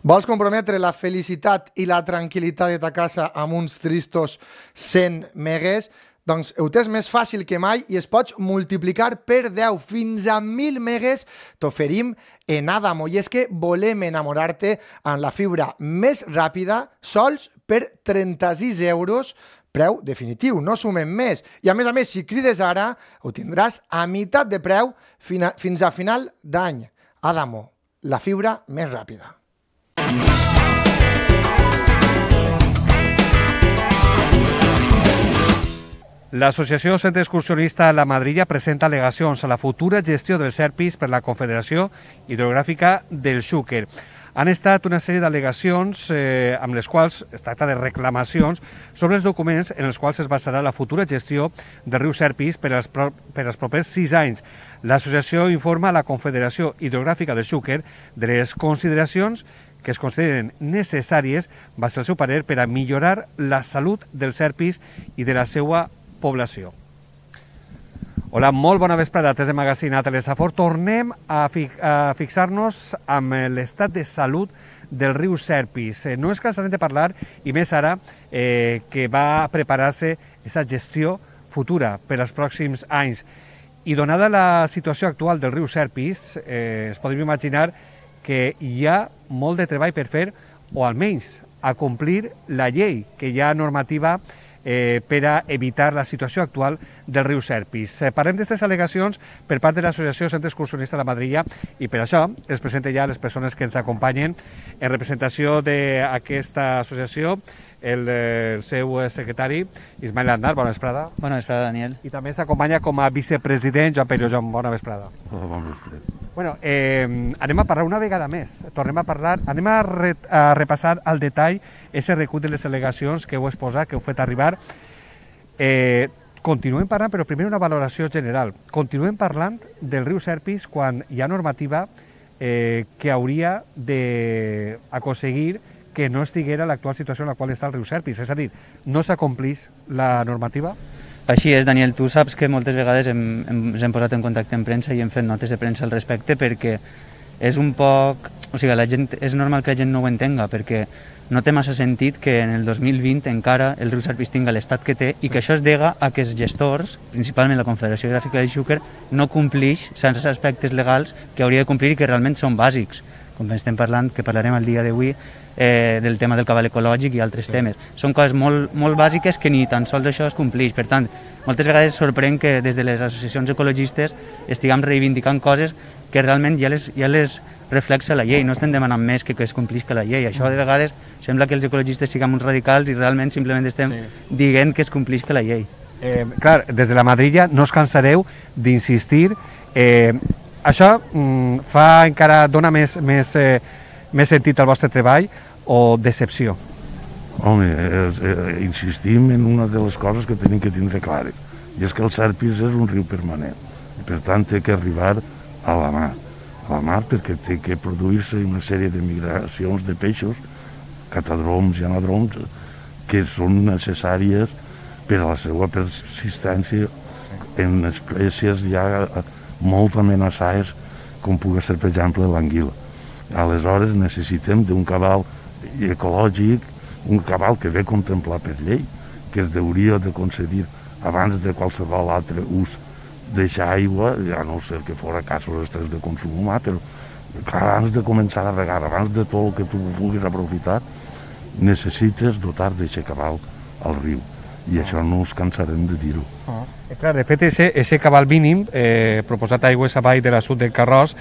Vols comprometre la felicitat i la tranquil·litat de ta casa amb uns tristos 100 megues? Doncs ho tens més fàcil que mai i es pots multiplicar per 10 fins a 1.000 megues. T'oferim en Adamo. I és que volem enamorar-te amb la fibra més ràpida, sols per 36 euros, preu definitiu, no sumem més. I a més, si crides ara, ho tindràs a meitat de preu fins a final d'any. Adamo, la fibra més ràpida. L'Associació Centre Excursionista La Madrilla presenta al·legacions a la futura gestió dels Serpis per la Confederació Hidrogràfica del Xúquer. Han estat una sèrie d'al·legacions amb les quals es tracta de reclamacions sobre els documents en els quals es basarà la futura gestió del riu Serpis per als propers 6 anys. L'associació informa a la Confederació Hidrogràfica del Xúquer de les consideracions que es consideren necessàries, va ser el seu parer, per a millorar la salut dels Serpis i de la seva població. Hola, molt bona vesprada, des de Magazine a Telesafor. Tornem a fixar-nos amb l'estat de salut del riu Serpis. No és cansarem de parlar, i més ara que va preparar-se aquesta gestió futura per als pròxims anys. I donada la situació actual del riu Serpis, es podem imaginar que hi ha molt de treball per fer, o almenys a complir la llei, que hi ha normativa per a evitar la situació actual del riu Serpis. Parlem d'aquestes al·legacions per part de l'Associació Centre Excursionista La Madrilla i per això es presenten ja les persones que ens acompanyen en representació d'aquesta associació, el seu secretari, Ismael Andar. Bona vesprada. Bona vesprada, Daniel. I també s'acompanya com a vicepresident Joan Perio. Joan, bona vesprada. Bona vesprada. Bueno, anem a parlar una vegada més. Tornem a parlar, anem a repassar al detall aquest recull de les al·legacions que heu exposat, que heu fet arribar. Continuem parlant, però primer una valoració general. Continuem parlant del riu Serpis quan hi ha normativa que hauria d'aconseguir que no estiguera l'actual situació en la qual està el riu Serpis. És a dir, no s'acomplix la normativa? Així és, Daniel. Tu saps que moltes vegades ens hem posat en contacte amb premsa i hem fet notes de premsa al respecte perquè és un poc... O sigui, és normal que la gent no ho entenga perquè no té massa sentit que en el 2020 encara el riu Serpis tinga l'estat que té i que això es dega a que els gestors, principalment la Confederació Hidrogràfica del Xúquer, no complix certs aspectes legals que hauria de complir i que realment són bàsics. Com estem parlant, que parlarem el dia d'avui, del tema del cabal ecològic i altres temes. Són coses molt bàsiques que ni tan sols això es complix. Per tant, moltes vegades sorprèn que des de les associacions ecologistes estiguem reivindicant coses que realment ja les reflexa la llei. No estem demanant més que es complisca la llei. Això de vegades sembla que els ecologistes siguem uns radicals i realment simplement estem dient que es complisca la llei. Clar, des de la Madrilla no us cansareu d'insistir. Això dona més sentit al vostre treball o decepció? Home, insistim en una de les coses que tenim que tindre clares, i és que el Serpis és un riu permanent, i per tant té que arribar a la mar perquè té que produir-se una sèrie de migracions de peixos, catadroms i anadroms, que són necessàries per a la seva persistència en espècies ja molt amenaçades, com pugui ser, per exemple, l'anguila. Aleshores necessitem d'un cabal ecològic, un cabal que ve contemplat per llei, que es hauria de concedir abans de qualsevol altre ús deixar aigua, a no ser que fora casos estrets de consum humà, però abans de començar a regar, abans de tot el que tu puguis aprofitar, necessites dotar d'aquest cabal al riu. I això no ens cansarem de dir-ho. Clar, de fet, aquest cabal mínim proposat a Aigües Avall de l'assut del Carròs,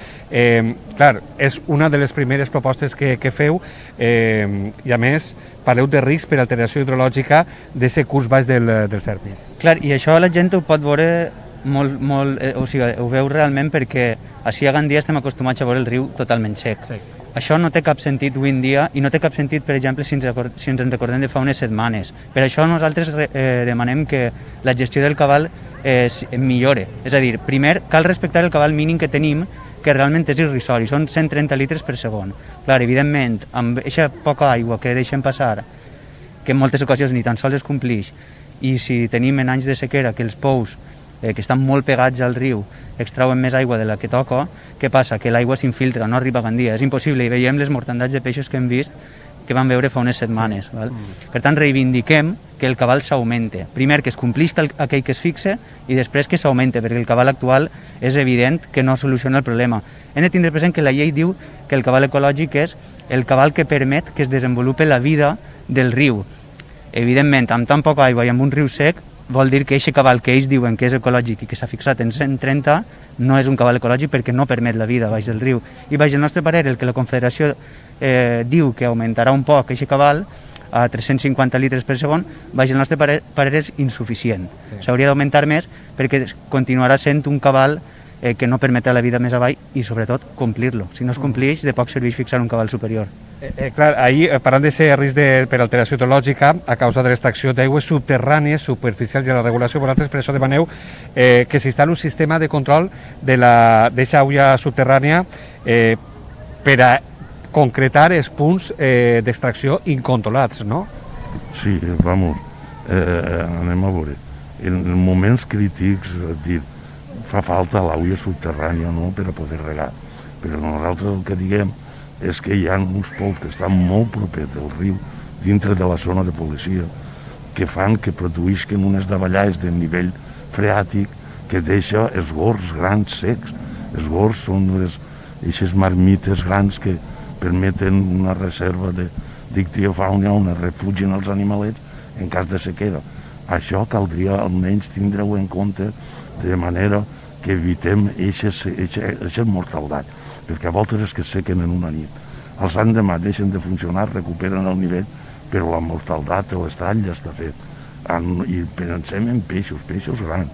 clar, és una de les primeres propostes que feu i, a més, parleu de risc per alteració hidrològica d'aquest curs baix del Serpis. Clar, i això la gent ho pot veure molt, o sigui, ho veu realment perquè així a Gandia estem acostumats a veure el riu totalment sec. Això no té cap sentit avui en dia i no té cap sentit, per exemple, si ens en recordem de fa unes setmanes. Per això nosaltres demanem que la gestió del cabal millore. És a dir, primer cal respectar el cabal mínim que tenim, que realment és irrisori, són 130 litres per segon. Clar, evidentment, amb aquesta poca aigua que deixem passar, que en moltes ocasions ni tan sols es complix, i si tenim en anys de sequera que els pous que estan molt pegats al riu, extrauen més aigua de la que toca, què passa? Que l'aigua s'infiltra, no arriba a Gandia, és impossible, i veiem les mortandats de peixos que hem vist que vam veure fa unes setmanes. Val? Per tant, reivindiquem que el cabal s'augmente. Primer, que es complisca aquell que es fixe i després que s'augmente, perquè el cabal actual és evident que no soluciona el problema. Hem de tindre present que la llei diu que el cabal ecològic és el cabal que permet que es desenvolupi la vida del riu. Evidentment, amb tan poca aigua i amb un riu sec, vol dir que aquest cabal que ells diuen que és ecològic i que s'ha fixat en 130 no és un cabal ecològic perquè no permet la vida baix del riu. I baix el nostre parer, el que la Confederació diu que augmentarà un poc aquest cabal a 350 litres per segon, baix el nostre parer és insuficient. S'hauria d'augmentar més perquè continuarà sent un cabal que no permetrà la vida més avall i sobretot complir-lo. Si no es compleix, de poc serveix fixar un cabal superior. Clar, ahir, parlant d'aquest risc per alteració hidrològica a causa de l'extracció d'aigües subterrànies, superficials i la regulació, vosaltres per això demaneu que s'instal·li un sistema de control d'aquesta aigua subterrània per a concretar els punts d'extracció incontrolats, no? Sí, vamos, anem a veure. En moments crítics, fa falta l'aigua subterrània, no?, per a poder regar. Però nosaltres el que diguem és que hi ha uns pous que estan molt propers del riu, dintre de la zona de policia, que fan que produïsquen unes davallades de nivell freàtic que deixa els gorgs grans secs. Els gorgs són aquestes marmites grans que permeten una reserva d'ictiofauna on es refugien els animalets en cas de sequera. Això caldria almenys tindre-ho en compte de manera que evitem aquest mortaldat, perquè a voltes és que es sequen en una nit. Els l'endemà deixen de funcionar, recuperen el nivell, però la mortaldat de l'estall ja està fet. I pensem en peixos grans,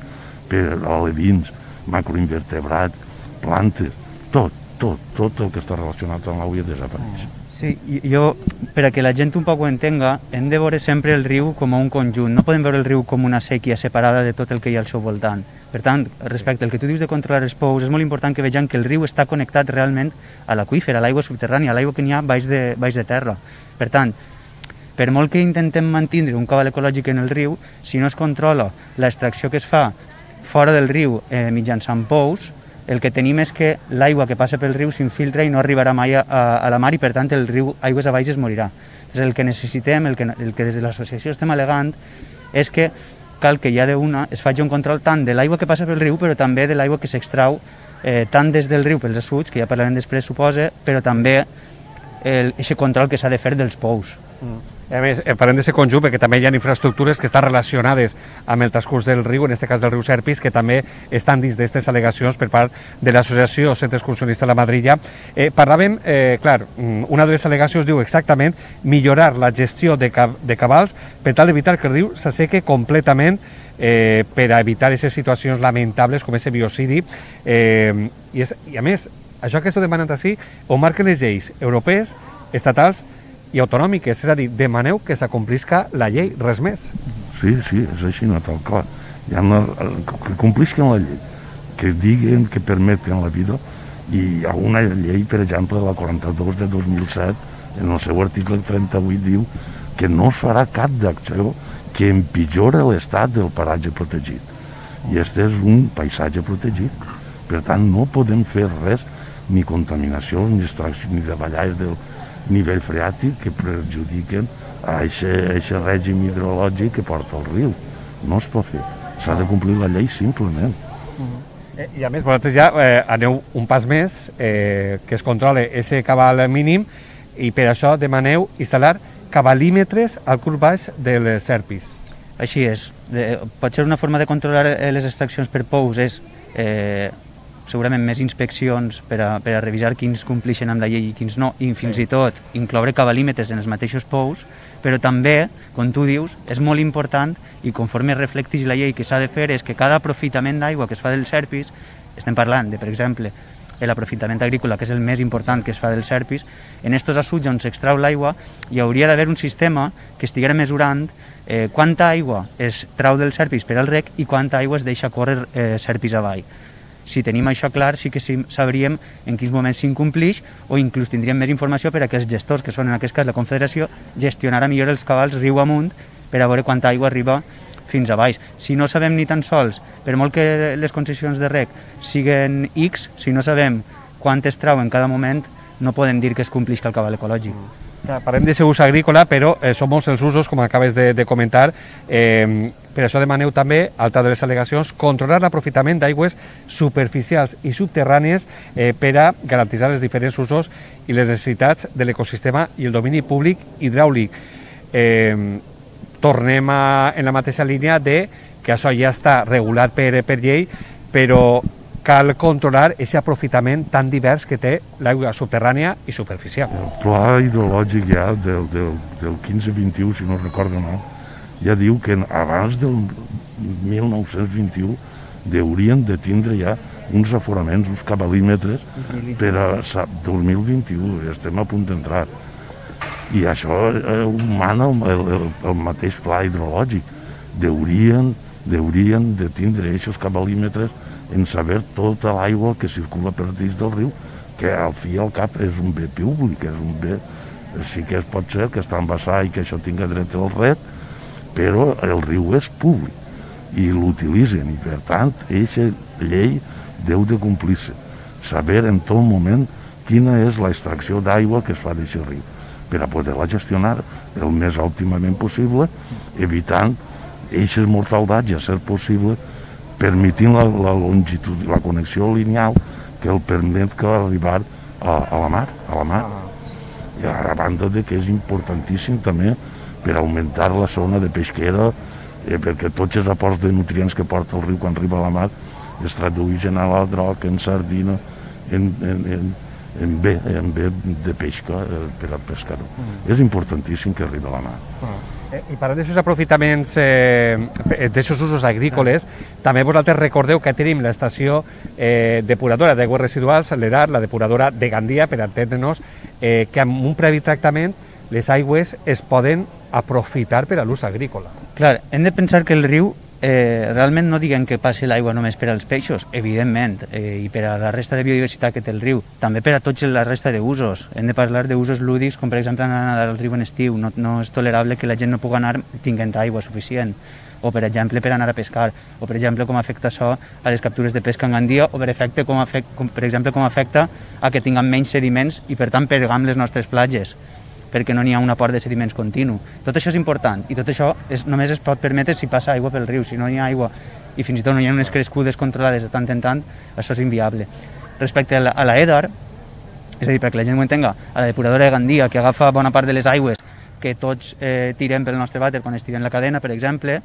per alevins, macroinvertebrats, plantes, tot el que està relacionat amb l'aigua desapareix. Sí, jo, per a que la gent un poc ho entenga, hem de veure sempre el riu com un conjunt. No podem veure el riu com una sèquia separada de tot el que hi ha al seu voltant. Per tant, respecte al que tu dius de controlar els pous, és molt important que vegem que el riu està connectat realment a l'aqüífer, a l'aigua subterrània, a l'aigua que n'hi ha baix de terra. Per tant, per molt que intentem mantenir un cabal ecològic en el riu, si no es controla l'extracció que es fa fora del riu mitjançant pous, el que tenim és que l'aigua que passa pel riu s'infiltra i no arribarà mai a la mar i, per tant, el riu aigües avall es morirà. El que necessitem, el que des de l'associació estem al·legant, és que cal que ja d'una es faci un control tant de l'aigua que passa pel riu, però també de l'aigua que s'extrau tant des del riu pels assuts, que ja parlarem després, suposa, però també aquest control que s'ha de fer dels pous. A més, parlem d'aquest conjunt perquè també hi ha infraestructures que estan relacionades amb el transcurs del riu, en aquest cas del riu Serpis, que també estan dins d'aquestes al·legacions per part de l'Associació Centre Excursionista de la Madrilla. Parlàvem, clar, una de les al·legacions diu exactament millorar la gestió de cabals per tal d'evitar que el riu s'asseque completament per a evitar aquestes situacions lamentables com aquest biocidi. I a més, això que esteu demanant així ho marquen les lleis europees, estatals i autonòmiques, és a dir, demaneu que s'acomplisca la llei, res més. Sí, és així, no tal clar. Que complisquen la llei, que diguen que permeten la vida, i hi ha una llei, per exemple, la 42 de 2007, en el seu article 38 diu que no es farà cap d'acció que empitjora l'estat del paratge protegit. I este és un paisatge protegit. Per tant, no podem fer res, ni contaminació, ni extracció, ni davallades del nivell freàtic que perjudiquen a aquest règim hidrològic que porta el riu. No es pot fer. S'ha de complir la llei simplement. I a més, vosaltres ja aneu un pas més, que es controle aquest cabal mínim, i per això demaneu instal·lar cabalímetres al curs baix del Serpis. Així és. Pot ser una forma de controlar les extraccions per pous, és segurament més inspeccions per a revisar quins complixen amb la llei i quins no, i fins i tot incloure cabalímetres en els mateixos pous, però també, com tu dius, és molt important, i conforme reflecteix la llei que s'ha de fer, és que cada aprofitament d'aigua que es fa del Serpis, estem parlant de, per exemple, l'aprofitament agrícola, que és el més important que es fa del Serpis, en aquests assuts on s'extrau l'aigua hi hauria d'haver un sistema que estiguera mesurant quanta aigua es trau del Serpis per al rec i quanta aigua es deixa córrer Serpis avall. Si tenim això clar, sí que sabríem en quins moments s'incomplix, o inclús tindríem més informació per a que els gestors, que són en aquest cas la Confederació, gestionaran millor els cabals riu amunt per a veure quanta aigua arriba fins a baix. Si no sabem ni tan sols, per molt que les concessions de reg siguen X, si no sabem quant es trau en cada moment, no podem dir que es complixi el cabal ecològic. Parlem d'aquest ús agrícola, però són molts els usos, com acabes de comentar. Per això demaneu també, altra de les al·legacions, controlar l'aprofitament d'aigües superficials i subterrànies per a garantir els diferents usos i les necessitats de l'ecosistema i el domini públic hidràulic. Tornem en la mateixa línia de que això ja està regulat per llei, però cal controlar aquest aprofitament tan divers que té l'aigua subterrània i superficial. El pla hidrològic ja del 15-21, si no recordo mal, ja diu que abans del 1921 haurien de tindre ja uns aforaments, uns cabalímetres per a 2021, estem a punt d'entrar. I això ho mana el mateix pla hidrològic. Haurien de tindre aquests cabalímetres en saber tota l'aigua que circula per dins del riu, que al fi i al cap és un bé públic, és un bé, sí que pot ser que està embassat i que això tinga dret al ret, però el riu és públic i l'utilitzen i per tant aquesta llei deu de complir-se, saber en tot moment quina és l'extracció d'aigua que es fa d'aquest riu per a poder-la gestionar el més òptimament possible, evitant aquestes mortaldats, a ser possible, permitint la longitud, la connexió lineal que el permet que arribar a la mar. I a banda de que és importantíssim també per augmentar la zona de pesquera, perquè tots els aports de nutrients que porta el riu quan arriba a la mar es tradueixen a la droga, en sardina, en bé de pesca per al pescador. És importantíssim que arribi a la mar. I parlant d'aquests aprofitaments, d'aquests usos agrícoles, també vosaltres recordeu que tenim l'estació depuradora d'aigües residuals, l'EDAR, la depuradora de Gandia, per entendre-nos, que amb un previ tractament les aigües es poden aprofitar per a l'ús agrícola. Clar, hem de pensar que el riu realment no diguem que passi l'aigua només per als peixos, evidentment, i per a la resta de biodiversitat que té el riu, també per a tots la resta d'usos. Hem de parlar d'usos lúdics, com per exemple anar a nedar al riu en estiu. No és tolerable que la gent no pugui anar tinguent aigua suficient, o per exemple per anar a pescar, o per exemple com afecta això a les captures de pesca en Gandia, o per exemple com afecta a que tinguem menys sediments i per tant pergam les nostres platges, perquè no n'hi ha un aport de sediments continu. Tot això és important i tot això només es pot permetre si passa aigua pel riu. Si no hi ha aigua i fins i tot no hi ha unes crescudes controlades de tant en tant, això és inviable. Respecte a la EDAR, és a dir, perquè la gent ho entenga, a la depuradora de Gandia, que agafa bona part de les aigües que tots tirem pel nostre vàter quan estirem la cadena, per exemple,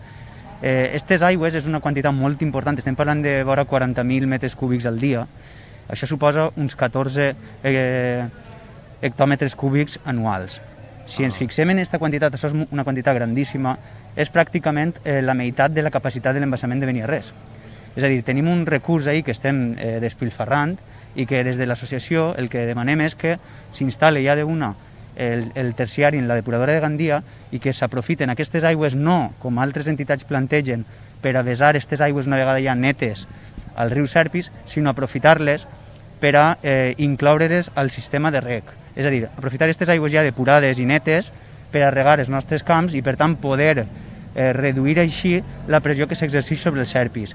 aquestes aigües és una quantitat molt important, estem parlant de vora 40.000 metres cúbics al dia. Això suposa uns 14 hectòmetres cúbics anuals. Si ens fixem en aquesta quantitat, això és una quantitat grandíssima, és pràcticament la meitat de la capacitat de l'embassament de Beniarrés. És a dir, tenim un recurs ahí que estem despilfarrant i que des de l'associació el que demanem és que s'instal·li ja d'una el terciari en la depuradora de Gandia i que s'aprofiten aquestes aigües no, com altres entitats plantegen, per a vessar aquestes aigües una vegada ja netes al riu Serpis, sinó aprofitar-les per a incloure-les al sistema de reg. És a dir, aprofitar aquestes aigües ja depurades i netes per a regar els nostres camps i per tant poder reduir així la pressió que s'exerceix sobre els Serpis.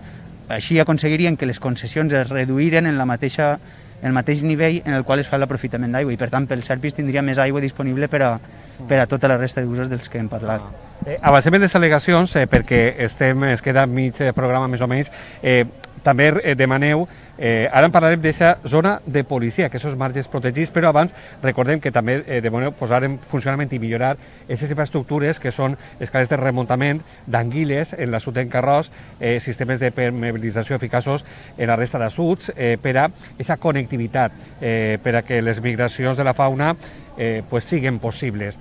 Així aconseguirien que les concessions es reduïren en el mateix nivell en el qual es fa l'aprofitament d'aigua i per tant pel Serpis tindria més aigua disponible per a tota la resta d'usos dels que hem parlat. Avancem en les al·legacions perquè es queda mig programa més o menys. També demaneu, ara en parlarem d'aquesta zona de policia, que són marges protegits, però abans recordem que també demaneu posar en funcionament i millorar aquestes infraestructures que són escales de remuntament d'anguiles en l'assut d'encarròs, sistemes de permeabilització eficaços en la resta d'assuts, per a aquesta connectivitat, per a que les migracions de la fauna siguin possibles.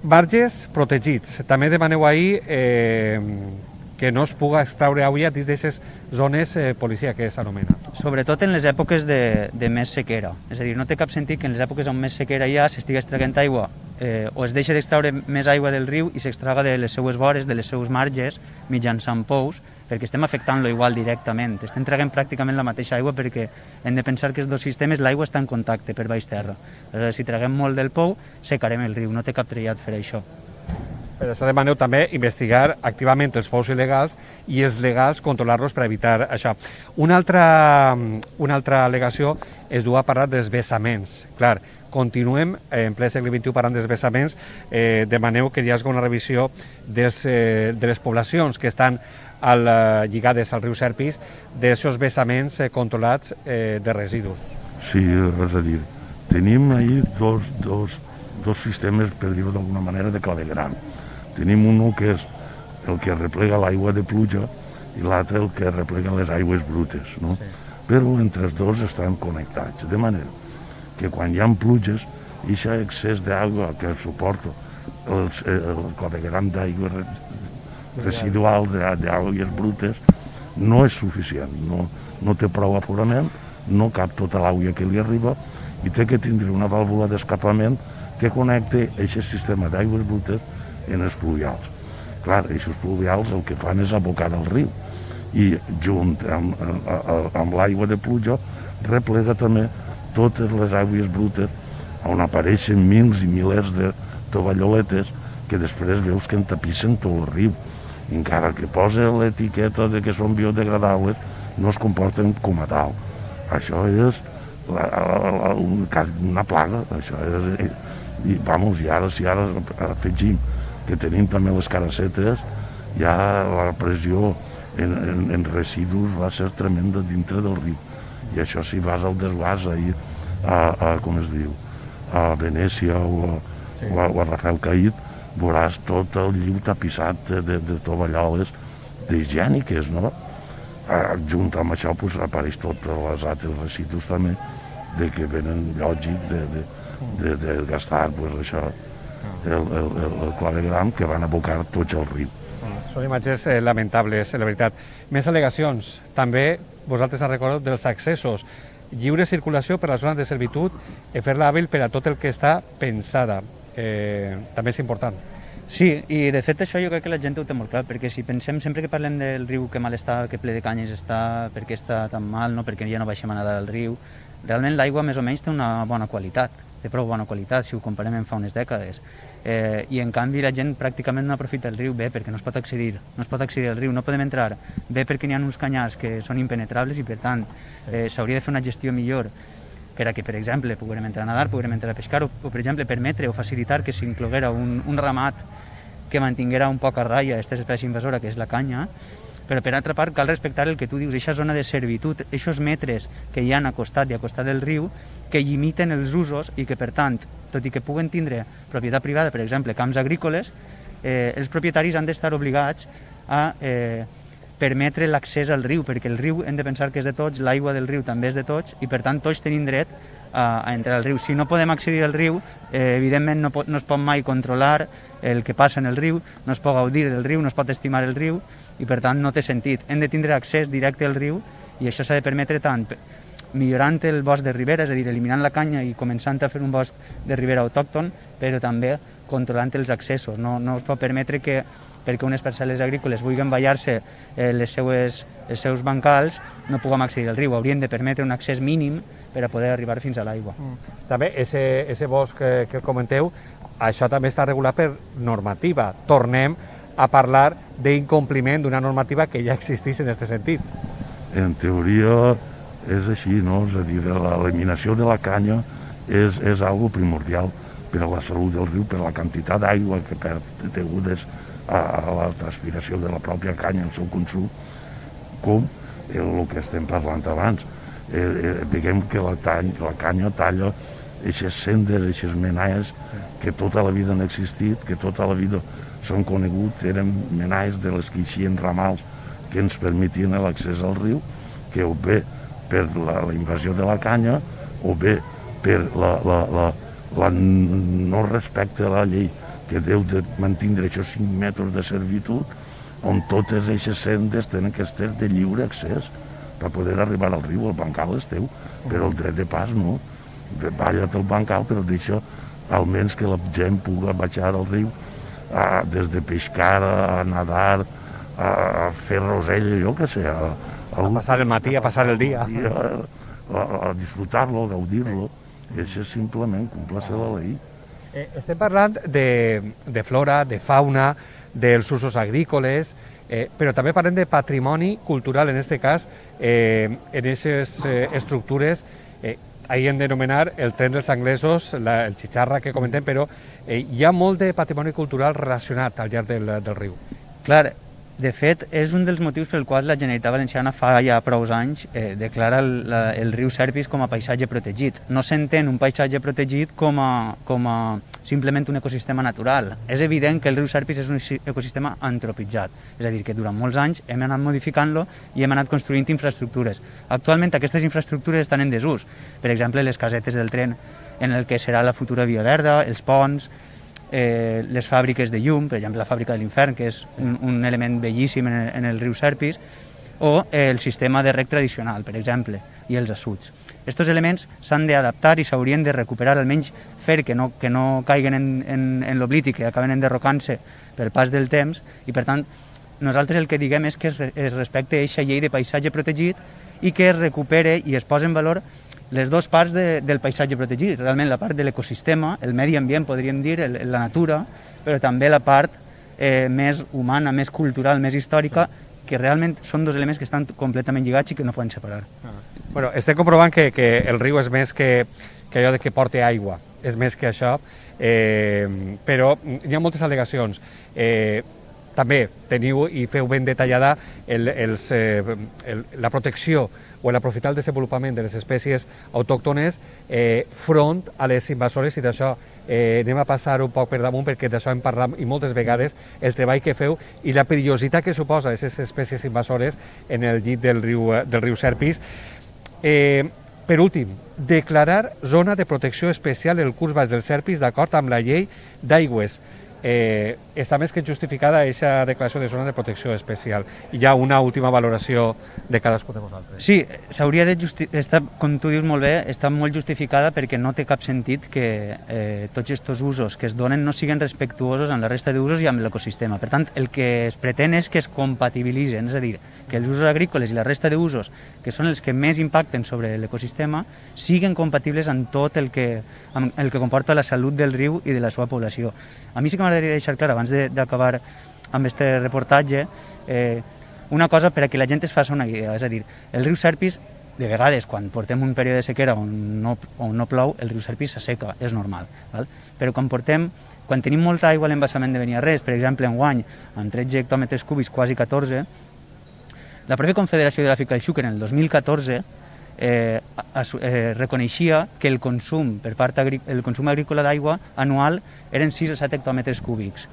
Marges protegits. També demaneu ahir que no es pugui extraure aigua dins d'aquestes zones policia que s'anomena. Sobretot en les èpoques de més sequera. És a dir, no té cap sentit que en les èpoques on més sequera hi ha s'estigui extraient aigua o es deixa d'extraure més aigua del riu i s'extraga de les seues vores, de les seues marges, mitjançant pous, perquè estem afectant-lo igual directament. Estem traguent pràcticament la mateixa aigua perquè hem de pensar que els dos sistemes l'aigua està en contacte per baix terra. Aleshores, si traguem molt del pou, secarem el riu, no té cap trellat fer això. Per això demaneu també investigar activament els pous il·legals i els legals controlar-los per evitar això. Una altra al·legació es du a parlar dels vessaments. Clar, continuem en ple segle XXI parlant dels vessaments, demaneu que hi hagi una revisió de les poblacions que estan lligades al riu Serpis, d'aquests vessaments controlats de residus. Sí, res a dir. Tenim ahí dos sistemes, per dir-ho d'alguna manera, de clavegueram. Tenim un que és el que replega l'aigua de pluja i l'altre el que replega les aigües brutes, no? Sí. Però entre els dos estan connectats, de manera que quan hi ha pluges, aquest excés d'aigua que suporta el clavegueram d'aigua residual d'aigües brutes no és suficient, no té prou aforament, no cap tota l'aigua que li arriba i té que tindre una vàlvula d'escapament que connecte aquest sistema d'aigües brutes en els pluvials. Clar, aquests pluvials el que fan és abocar al riu i junt amb l'aigua de pluja replega també totes les aigües brutes on apareixen mils i milers de tovalloletes que després veus que entapissen tot el riu. Encara que posa l'etiqueta de que són biodegradables, no es comporten com a tal. Això és una plaga. Això és, i ara, si ara afegim que tenim també les carassetes, ja la pressió en residus va ser tremenda dintre del riu. I això si vas al desguàs ahir com es diu, a Venècia o a Rafael Caïd, veuràs tot el lliu tapissat de tovalloles higièniques, no? Junt amb això apareix tots els altres residus també de que venen lògic de gastar això, el clavegueram que van abocar tots al riu. Són imatges lamentables, la veritat. Més al·legacions. També vosaltres ha recordat dels accessos. Lliure circulació per la zona de servitud i fer-la hàbil per a tot el que està pensada. També és important. Sí, i de fet això jo crec que la gent ho té molt clar, perquè si pensem sempre que parlem del riu que mal està, que ple de canyes està, per què està tan mal, no? Perquè ja no baixem a nedar al riu, realment l'aigua més o menys té una bona qualitat, té prou bona qualitat si ho comparem amb fa unes dècades. I en canvi la gent pràcticament no aprofita el riu bé perquè no es pot accedir al riu, no podem entrar bé perquè n'hi ha uns canyars que són impenetrables i per tant s'hauria de fer una gestió millor per a que, per exemple, puguem entrar a nedar, puguem entrar a pescar o per exemple, permetre o facilitar que s'incloguera un ramat que mantinguera un poc a ratlla aquesta espècie invasora que és la canya, però per altra part cal respectar el que tu dius, aquesta zona de servitud, aquests metres que hi ha a costat i a costat del riu que limiten els usos i que per tant, tot i que puguen tindre propietat privada, per exemple, camps agrícoles, els propietaris han d'estar obligats a permetre l'accés al riu, perquè el riu hem de pensar que és de tots, l'aigua del riu també és de tots i per tant tots tenim dret a entrar al riu. Si no podem accedir al riu, evidentment no es pot mai controlar el que passa en el riu, no es pot gaudir del riu, no es pot estimar el riu i per tant no té sentit. Hem de tindre accés directe al riu i això s'ha de permetre tant millorant el bosc de ribera, és a dir, eliminant la canya i començant a fer un bosc de ribera autòcton, però també controlant els accessos. No es pot permetre que perquè unes parcel·les agrícoles vulguin ballar-se els seus bancals, no puguem accedir al riu. Haurien de permetre un accés mínim per a poder arribar fins a l'aigua. També, ese bosc que comenteu, això també està regulat per normativa. Tornem a parlar d'incompliment d'una normativa que ja existeix en aquest sentit. En teoria és així, no? És a dir, l'eliminació de la canya és algo primordial per a la salut del riu, per la quantitat d'aigua que perd degudes a la transpiració de la pròpia canya, el seu consum, com el que estem parlant abans. Diguem que la canya talla aquestes sendes, aquestes menaies que tota la vida han existit, que tota la vida s'han conegut, eren menaies de les que eixien ramals que ens permetien l'accés al riu, que o bé per la invasió de la canya o bé per la no respecte a la llei que deu de mantenir aquests 5 metres de servitud on totes aquestes sendes tenen que estar de lliure accés per poder arribar al riu. El bancal és teu, però el dret de pas no. Balla't el bancal, però deixa almenys que la gent pugui baixar al riu des de pescar, a nedar, a fer rosell, jo què sé. A passar el matí, a passar el dia. A disfrutar-lo, a gaudir-lo. Això és simplement complir la llei. Estem parlant de flora, de fauna, dels usos agrícoles, però també parlem de patrimoni cultural, en aquest cas, en aquestes estructures. Ahir hem d'anomenar el tren dels anglesos, el xixarra que comentem, però hi ha molt de patrimoni cultural relacionat al llarg del riu. Clar, de fet, és un dels motius pel qual la Generalitat Valenciana fa ja prou anys declara el riu Serpis com a paisatge protegit. No s'entén un paisatge protegit com a simplement un ecosistema natural. És evident que el riu Serpis és un ecosistema antropitzat, és a dir, que durant molts anys hem anat modificant-lo i hem anat construint infraestructures. Actualment aquestes infraestructures estan en desús, per exemple les casetes del tren en el que serà la futura via verda, els ponts, les fàbriques de llum, per exemple la fàbrica de l'Infern, que és un element bellíssim en el riu Serpis, o el sistema de rec tradicional, per exemple, i els assuts. Aquests elements s'han d'adaptar i s'haurien de recuperar, almenys fer que no caiguen en l'oblit i que acaben enderrocant-se pel pas del temps, i per tant nosaltres el que diguem és que es respecte aquesta llei de paisatge protegit i que es recupere i es posa en valor les dues parts del paisatge protegit, realment la part de l'ecosistema, el medi ambient, podríem dir, la natura, però també la part més humana, més cultural, més històrica, que realment són dos elements que estan completament lligats i que no poden separar. Bueno, estem comprovant que el riu és més que allò de que porta aigua, és més que això, però hi ha moltes al·legacions. També teniu i feu ben detallada la protecció o l'aprofitar el desenvolupament de les espècies autòctones front a les invasores, i d'això anem a passar un poc per damunt perquè d'això hem parlat i moltes vegades, el treball que feu i la perillositat que suposa aquestes espècies invasores en el llit del riu Serpis. Per últim, declarar zona de protecció especial el curs baix del Serpis d'acord amb la llei d'aigües. Està més que justificada aquesta declaració de zona de protecció especial. Hi ha una última valoració de cadascú de vosaltres. Sí, s'hauria de justificar, com tu dius molt bé, està molt justificada perquè no té cap sentit que tots aquests usos que es donen no siguin respectuosos amb la resta d'usos i amb l'ecosistema. Per tant, el que es pretén és que es compatibilitzen, és a dir, que els usos agrícoles i la resta d'usos, que són els que més impacten sobre l'ecosistema, siguin compatibles amb tot el que comporta la salut del riu i de la seva població. A mi sí que m'agradaria deixar clar, abans d'acabar amb aquest reportatge, una cosa per a que la gent es faci una idea. És a dir, el riu Serpis, de vegades, quan portem un període de sequera on no plou, el riu Serpis s'asseca, és normal. Val? Però quan tenim molta aigua a l'embassament de Beniarrés, per exemple, enguany, amb 13 hectòmetres cúbics, quasi 14, la pròpia Confederació Hidrogràfica del Xúquer, en el 2014, reconeixia que el consum agrícola d'aigua anual eren 6 o 7 hectòmetres cúbics.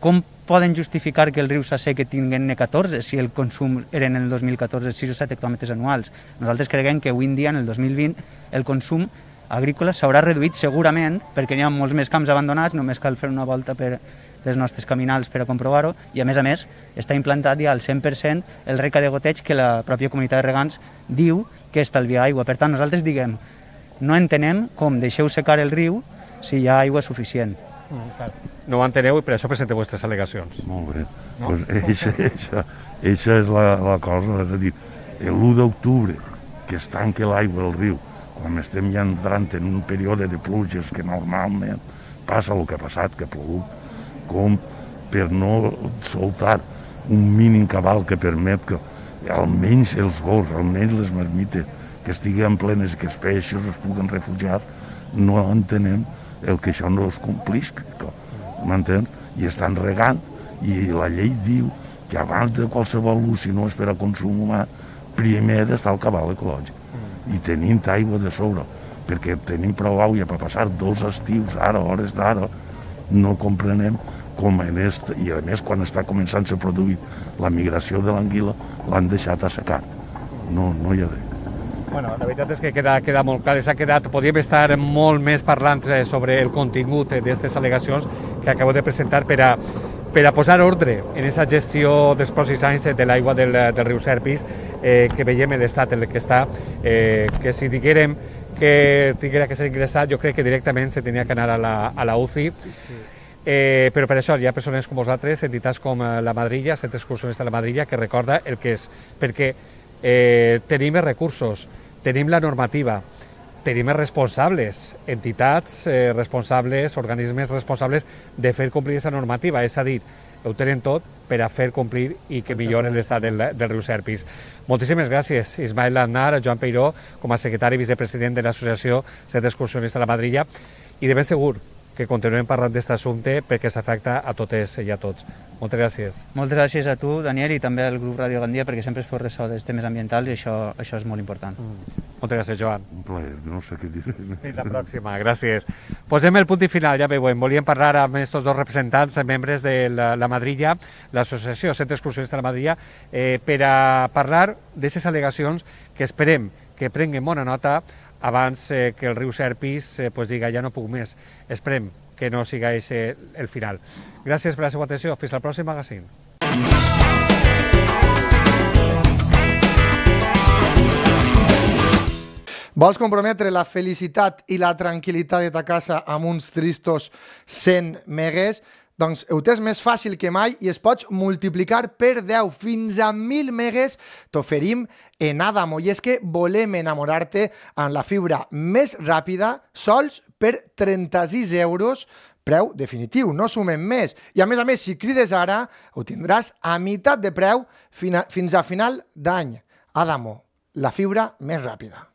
Com poden justificar que el riu s'assequi tinguent 14 si el consum eren en el 2014 6 o 7 hectòmetres anuals? Nosaltres creiem que avui en dia, en el 2020, el consum agrícola s'haurà reduït segurament perquè hi ha molts més camps abandonats, només cal fer una volta per les nostres caminals per a comprovar-ho, i a més està implantat ja al 100% el rec de goteig que la pròpia comunitat de regants diu que estalvia aigua. Per tant, nosaltres diguem, no entenem com deixeu secar el riu si hi ha aigua suficient. No ho enteneu i per això presenteu vostres al·legacions. Molt bé. Eixa és la cosa, és a dir, l'1 d'octubre, que es tanca l'aigua del riu, quan estem ja entrant en un període de pluges que normalment passa el que ha passat, que ha plogut, com per no soltar un mínim cabal que permet que almenys els gos, almenys les marmites que estiguen plenes i que els peixos es puguen refugiar, no entenem el que això no es complisca, m'entens? I estan regant, i la llei diu que abans de qualsevol ús, si no és per a consum humà, primer ha d'estar el cabal ecològic. I tenim aigua de sobre, perquè tenim prou aigua per passar 2 estius, ara, hores d'ara, no comprenem com i a més quan està començant a produir la migració de l'anguila l'han deixat assecar. No hi ha res. Bueno, la veritat és que queda molt clar, podríem estar molt més parlant sobre el contingut d'aquestes al·legacions que acabo de presentar per a posar ordre en aquesta gestió dels pròxims anys de l'aigua del riu Serpis, que veiem l'estat en el que està, que si diguérem que tinguera que ser ingressat, jo crec que directament se tenia que anar a la UCI. Però per això hi ha persones com vosaltres, entitats com la Madrilla, Centre Excursionista de la Madrilla, que recorda el que és, perquè tenim els recursos, tenim la normativa, tenim responsables, entitats responsables, organismes responsables de fer complir aquesta normativa, és a dir, ho tenen tot per a fer complir i que milloren l'estat del riu Serpis. Moltíssimes gràcies, Ismael Aznar, Joan Peiró, com a secretari i vicepresident de l'Associació Centre Excursionista de la Madrilla, i de ben segur que continuem parlant d'aquest assumpte perquè s'afecta a totes i a tots. Moltes gràcies. Moltes gràcies a tu, Daniel, i també al grup Ràdio Gandia, perquè sempre es fos ressò dels temes ambientals i això és molt important. Moltes gràcies, Joan. Un plaer, no sé què dir. Fins la pròxima, gràcies. Posem el punt i final, ja veiem. Volíem parlar amb aquests dos representants, membres de la Madrilla, l'Associació Centre Excursionista de la Madrilla, per a parlar d'aquestes al·legacions que esperem que prenguem bona nota abans que el riu Serpis diga ja no puc més. Esperem que no siga el final. Gràcies per la seva atenció. Fins al pròxim magazín. Vols comprometre la felicitat i la tranquil·litat de ta casa amb uns tristos 100 megues? Doncs ho tens més fàcil que mai i es pots multiplicar per 10 fins a 1.000 megues. T'oferim en Adamo. I és que volem enamorar-te amb la fibra més ràpida, sols per 36 euros, preu definitiu, no sumem més. I a més, si crides ara, ho tindràs a meitat de preu fins a final d'any. Adamo, la fibra més ràpida.